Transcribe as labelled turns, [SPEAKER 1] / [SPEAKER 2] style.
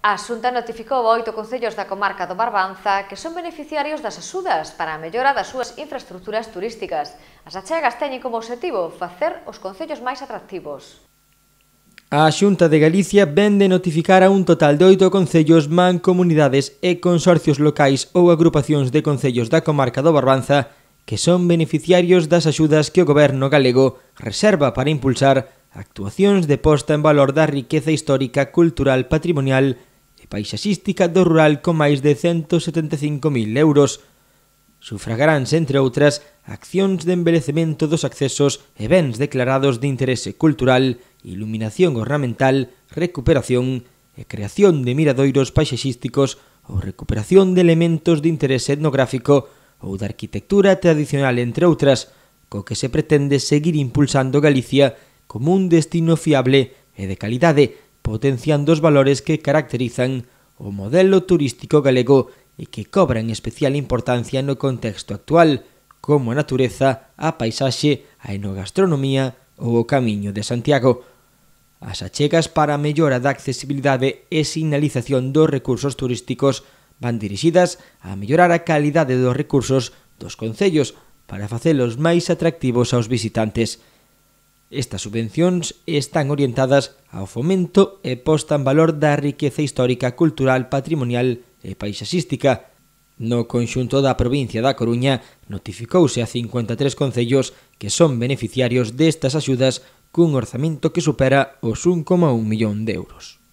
[SPEAKER 1] A Xunta notificou a 8 concellos da comarca do Barbanza que son beneficiarios das axudas para a mellora das súas infraestructuras turísticas. As achegas teñen como obxectivo facer os concellos máis atractivos.
[SPEAKER 2] A Xunta de Galicia vén de notificar a un total de 8 concellos, mancomunidades e consorcios locais ou agrupacións de concellos da comarca do Barbanza que son beneficiarios das axudas que o goberno galego reserva para impulsar actuacións de posta en valor da riqueza histórica, cultural, patrimonial e paisaxística do rural con máis de 175.000 euros. Sufragaránse, entre outras, accións de embelecemento dos accesos e bens declarados de interese cultural, iluminación ornamental, recuperación e creación de miradoiros paisaxísticos ou recuperación de elementos de interese etnográfico ou de arquitectura tradicional, entre outras, co que se pretende seguir impulsando Galicia como un destino fiable e de calidade, potenciando os valores que caracterizan o modelo turístico galego e que cobran especial importancia no contexto actual, como a natureza, a paisaxe, a enogastronomía ou o Camiño de Santiago. As achegas para a mellora da accesibilidade e sinalización dos recursos turísticos van dirixidas a mellorar a calidade dos recursos dos concellos para facelos máis atractivos aos visitantes. Estas subvencións están orientadas ao fomento e posta en valor da riqueza histórica, cultural, patrimonial e paisaxística. No conxunto da provincia da Coruña notificouse a 53 concellos que son beneficiarios destas axudas cun orzamento que supera os 1,1 millón de euros.